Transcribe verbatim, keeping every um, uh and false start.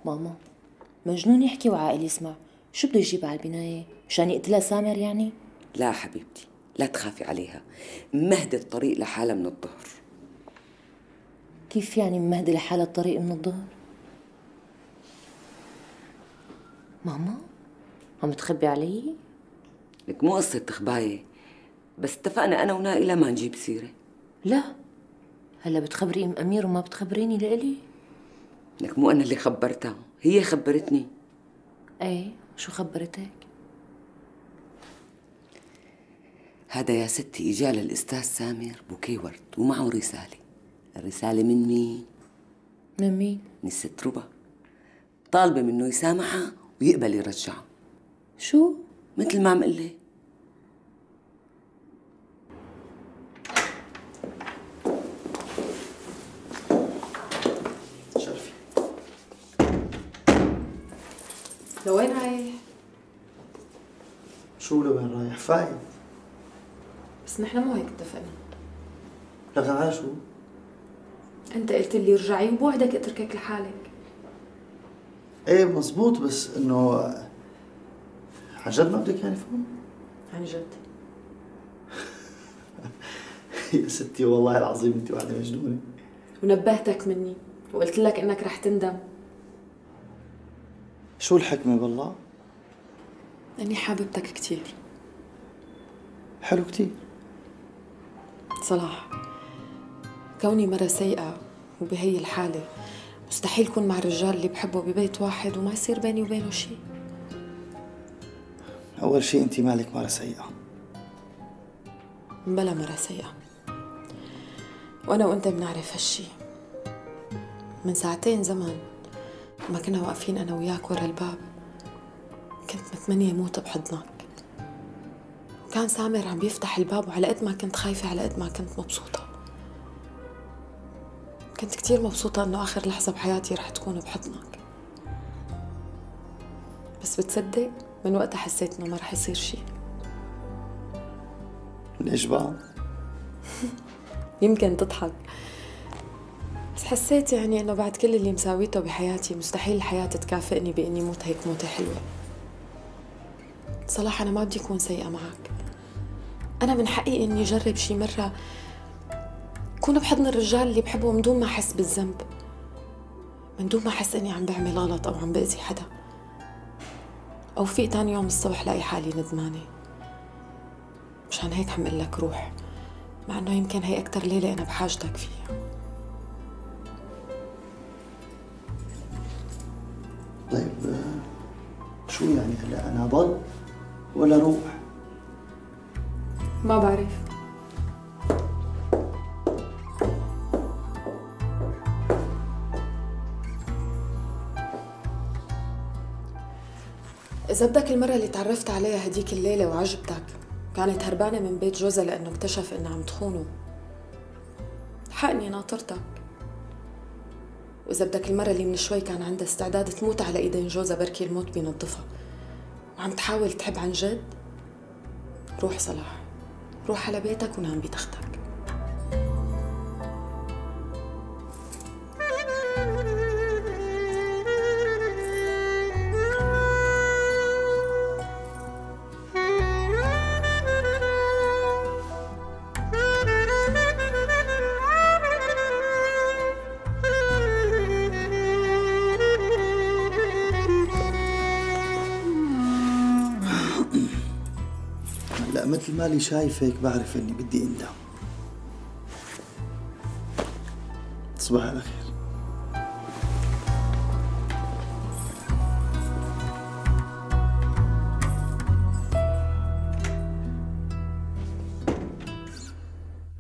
ماما مجنون يحكي وعاقل يسمع. شو بده يجيب على البناية؟ مشان يقتلها سامر يعني؟ لا حبيبتي، لا تخافي عليها، مهدي الطريق لحالها من الظهر. كيف يعني ممهدي لحالها الطريق من الظهر؟ ماما عم تخبي علي؟ لك مو قصة تخباية، بس اتفقنا أنا ونائلة ما نجيب سيرة. لا هلا بتخبري ام امير وما بتخبريني لإلي؟ لك مو أنا اللي خبرتها، هي خبرتني. ايه شو خبرتك؟ هذا يا ستي اجا للأستاذ سامر بوكيه ورد ومعه رسالة. الرسالة من مين؟ من مين؟ من الست ربا، طالبة منه يسامحها ويقبل يرجعها. شو؟ مثل ما عم قلي. شرفي. لوين رايح؟ شو لوين رايح؟ فايت. بس نحن مو هيك اتفقنا. لك على شو؟ انت قلت لي ارجعي وبوعدك اتركك لحالك. ايه مزبوط، بس انه عن جد ما بدك يعني فهم؟ عن جد. يا ستي والله العظيم انت وحده مجنونه. ونبهتك مني وقلت لك انك رح تندم. شو الحكمه بالله؟ اني حاببتك كثير. حلو كثير. صلاح، كوني مرة سيئة وبهي الحالة مستحيل كون مع الرجال اللي بحبه ببيت واحد وما يصير بيني وبينه شيء. أول شيء أنت مالك مرة سيئة. بلا مرة سيئة، وأنا وأنت بنعرف هالشي. من ساعتين زمان ما كنا واقفين أنا وياك ورا الباب كنت متمنية موت بحضنك، وكان سامر عم بيفتح الباب، وعلى قد ما كنت خايفة على قد ما كنت مبسوطة. كنت كتير مبسوطة إنه آخر لحظة بحياتي رح تكون بحضنك. بس بتصدق من وقتها حسيت إنه ما رح يصير شي. ليش بقى؟ يمكن تضحك، بس حسيت يعني إنه بعد كل اللي مساويته بحياتي مستحيل الحياة تكافئني بإني موت هيك موتة حلوة. صلاح أنا ما بدي أكون سيئة معك. أنا من حقي إني أجرب شي مرة كون بحضن الرجال اللي بحبه من دون ما أحس بالذنب، من دون ما أحس إني عم بعمل غلط أو عم بأذي حدا، أو فيق تاني يوم الصبح لاقي حالي ندمانة. مشان هيك عم قل لك روح، مع إنه يمكن هي أكتر ليلة أنا بحاجتك فيها. طيب شو يعني هلا أنا ضل ولا روح؟ ما بعرف. إذا بدك المرة اللي تعرفت عليها هديك الليلة وعجبتك كانت هربانة من بيت جوزها لأنه اكتشف إنها عم تخونه، حقني ناطرتك. وإذا بدك المرة اللي من شوي كان عندها استعداد تموت على إيدين جوزها بركي الموت بينظفها وعم تحاول تحب عن جد، روح صلاح، روح على بيتك ونام بتختك. هلا مثل مالي شايفك بعرف اني بدي اندم. تصبح على خير.